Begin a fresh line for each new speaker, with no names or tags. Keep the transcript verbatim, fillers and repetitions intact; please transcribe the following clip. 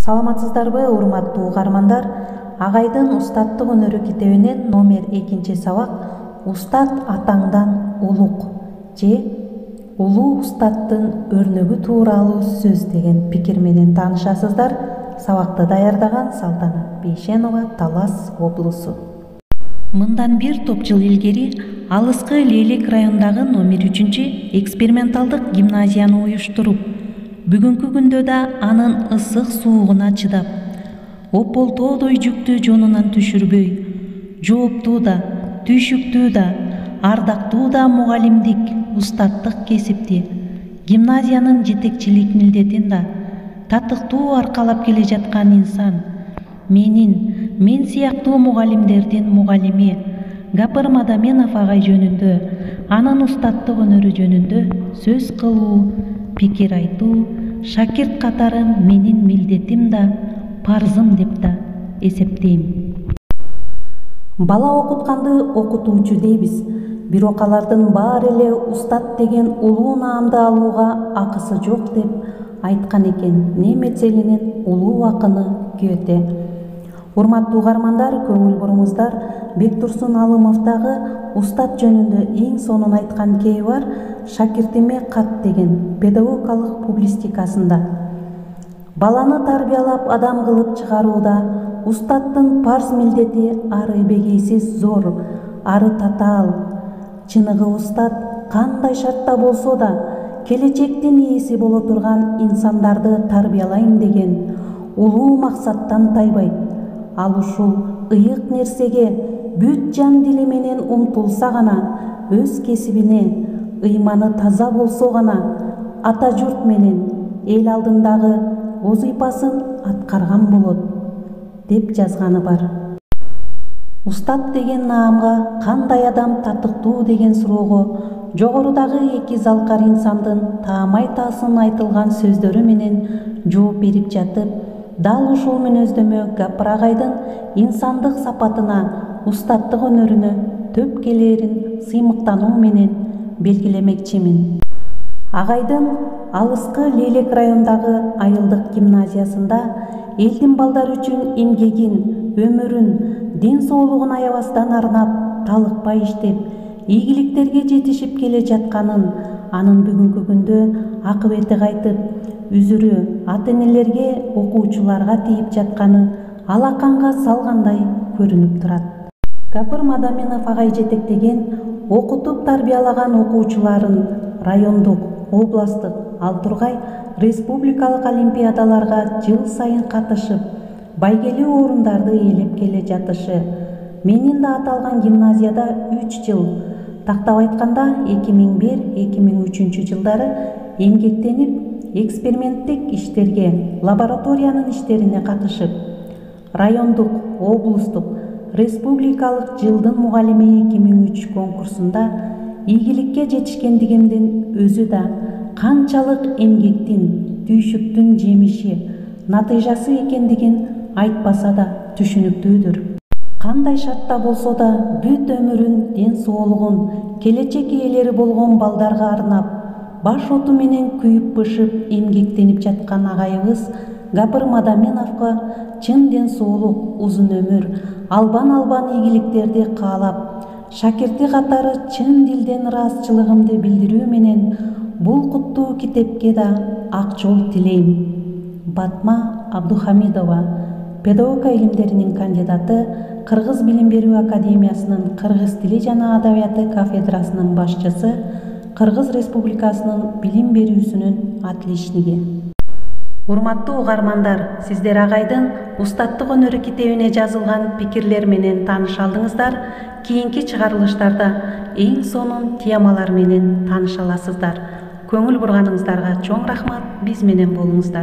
Саламатсыздарбы, урматтуу угармандар? Агайдын устаттык өнөрү китебинен номер экинчи сабак «Устат атаңдан улук» же «Улуу устаттын өрнөгү» тууралуу сөз деген пикир менен таанышасыздар. Сабакты даярдаган Салтанат Бейшенова, Талас облусу. Мындан бир топ жыл илгери алыскы Лейлек районундагы номер үчүнчү эксперименталдык гимназияны уюштуруп, бүгүнкү күндө да анын ысык суугуна чыдап, ополтоодой жүктү жонунан түшүрбөй, жооптуу да, түйшүктүү да, ардактуу да мугалимдик, устаттык кесипти, гимназиянын жетекчилик милдетин да татыктуу аркалап келе жаткан инсан, менин, мен сыяктуу мугалимдердин мугалими Гапыр Мадаминов агай жөнүндө, анын устаттык өнөрү жөнүндө сөз кылуу, пикир айтуу шакирт катары менин милдетим да, парзым деп да эсептейм. Бала окутканды окутуучу дейбиз, бирок алардын баары эле устат деген улуу наамды алууга акысы жок деп айткан экен немец элинин улуу акыны Гете. Урматтуу угармандар, көңүл буруңуздар, Бектурсун Алымовдагы устат жөнүндө эң сонун айткан кеби бар «Шакиртиме кат» деген педагогикалык публистикасында. Баланы тарбиялап адам кылып чыгарууда устаттын парз милдети ары бегейсиз зор, ары татаал. Чыныгы устат кандай шартта болсо да келечектин ээси боло турган инсандарды тарбиялайм деген улуу максаттан тайбайт. Ал ушул ыйык нерсеге бүт жан дили менен умтулса гана, өз кесибине ыйманы таза болсо гана ата журт менен эл алдындагы вазыйпасын аткарган болот, деп жазганы бар. Устат деген наамга кандай адам татыктуу деген суроого жогорудагы эки залкар инсандын таамай таасын айтылган сөздөрү менен жооп берип жатып, дал ушул мүнөздөмө Гапыр агайдын инсандык сапатына, устаттык өнөрүнө төп келээрин сыймыктануу менен белгилемекчимин. Агайдын алыскы Лейлек районундагы айылдык гимназиясында элдин балдары үчүн эмгегин, өмүрүн, ден соолугун аябастан арнап, талыкпай иштеп, ийгиликтерге жетишип келе жатканын, анын бүгүнкү күндө акыбети кайтып, үзүрү ата-энелерге, окуучуларга тийип жатканы алаканга салгандай көрүнүп турат. Гапыр Мадаминов агай жетектеген, окутуп тарбиялаган окуучуларын райондук, областтык, ал тургай республикалык олимпиадаларга жыл сайын катышып, байгелүү орундарды ээлеп келе жатышы. Менин да аталган гимназияда үч жыл, тактап айтканда эки миң бир — эки миң үчүнчү жылдары эмгектенип, эксперименттик иштерге, лабораториянын иштерине катышып, райондук, облустук, республикалык жылдын мугалими эки миң үч конкурсунда ийгиликке жетишкендигимдин өзү да канчалык эмгектин, түйшүктүн жемиши, натыйжасы экендигин айтпаса да түшүнүктүүдүр. Кандай шартта болсо да бүт өмүрүн, ден соолугун келечек ээлери болгон балдарга арнап, баш оту менен күйүп-бышып эмгектенип жаткан агайыбыз Гапыр Мадаминовго чын ден соолук, узун өмүр, албан-албан ийгиликтерди каалап, шакирти катары чын дилден ыраазычылыгымды билдирүү менен бул куттуу китепке да ак жол тилейм. Батма Абдухамидова, педагогика илимдеринин кандидаты, Кыргыз билим берүү академиясынын кыргыз тили жана адабияты кафедрасынын башчысы, Кыргыз Республикасынын билим берүүсүнүн отличниги. Урматтуу угармандар, сиздер агайдын устаттык өнөрү китебине жазылган пикирлер менен тааныша алдыңыздар. Кийинки чыгарылыштарда эң сонун темалар менен тааныша аласыздар. Көңүл бурганыңыздарга чоң рахмат, биз менен болуңуздар.